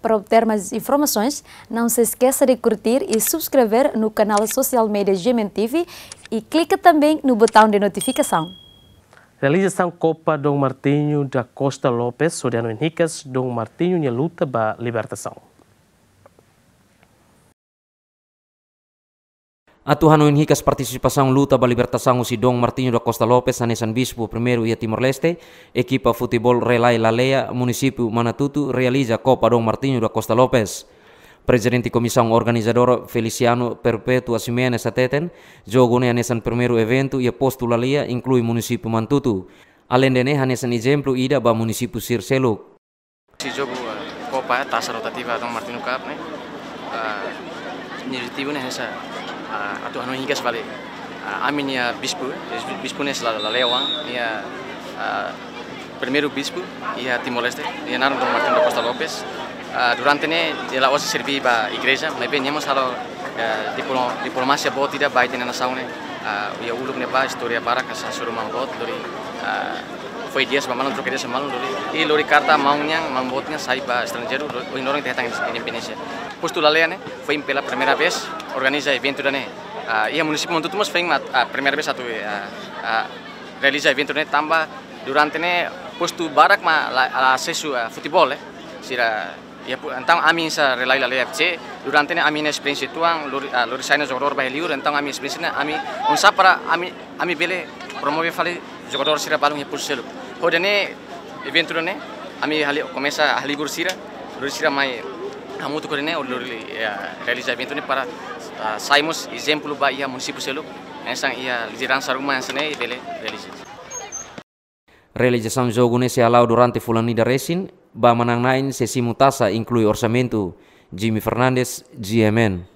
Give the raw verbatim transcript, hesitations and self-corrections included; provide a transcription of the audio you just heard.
Para obter mais informações, não se esqueça de curtir e subscrever no canal social media G M N T V e clica também no botão de notificação. Realizasaun Kopa Dom Martinho da Costa Lopes, hodi hanoin hikas Dom Martinho nia luta ba libertasaun. Atu hanoin hikas partisipasaun luta ba libertasaun husi Dom Martinho da Costa Lopes hanesan Bispu primeiru iha Timor-Leste, ekipa futeból Relai Laleia, Munisípiu Manatutu, realiza Kopa Dom Martinho da Costa Lopes. Prezidente Komisaun Organizadora Feliciano Perpetua Ximenes hateten, jogu ne'e hanesan primeiru eventu iha postu Laleia, inklui Munisípiu Manatutu. Aleinde ne'e hanesan ezemplu ida ba munisípiu sira seluk. Husi jogu, eh, Kopa, eh, Taça Rotativa Dom Martinho Cup ne'e, eh, nia objetivu ne'e hanesan, eh, atu hanoin hikas fali, eh, ami-nia bispu, eh, bispu ne'e sira Laleia oan, nia, eh, primeiru bispu iha Timor-Leste, nia naran Dom Martinho da Costa Lopes. Eh, durante ne'e, nia la'ós serbí ba igreja, maibé nia mós halo, eh, diplo-, diplomasia boot ida ba ita-nia nasaun ne'e, eh, iha uluk ne'ebá, istória barak hasoru maun boot, lori, eh, fó ideias ba maun, troka ideias ba maun, lori, i lori karta maun nian, maun boot nian sai ba estranjeiru, lo-, ohin loron ita hetan independénsia. Postu Laleia ne'e, foin pela primeira vez organiza eventu ida-ne'e. Ah, iha munisípiu Manatutu mós foin mak, ah, primeira vez atu, ah, ah, realiza eventu ne'e tanba durante ne'e postu barak mak la, la asesu, ah, futeból, eh. Sira, iha pu-, entaun ami hanesan Relai Laleia F C, durante ne'e ami-nia esperiénsia uitoan, lori, ah, lori sai ona jogadór ba iha liur, entaun ami esperiénsia ne'e, ami oinsá para ami, ami bele promove fali jogadór sira balun iha postu seluk. Hodi nune'e eventu ida-ne'e, ami hali-, komesa halibur sira, lori sira mai hamutuk hodi nune'e, lori, eh, realiza eventu ne'e para, ah, sai mós ezemplu ba iha munisípiu seluk, hanesan iha lideransa ruma hanesan ne'e bele realiza. Realizasaun jogu ne'e sei hala'o durante fulan ida resin, ba manán-na'in sei simu taxa inklui orsamentu. Jimmy Fernandes, G M N.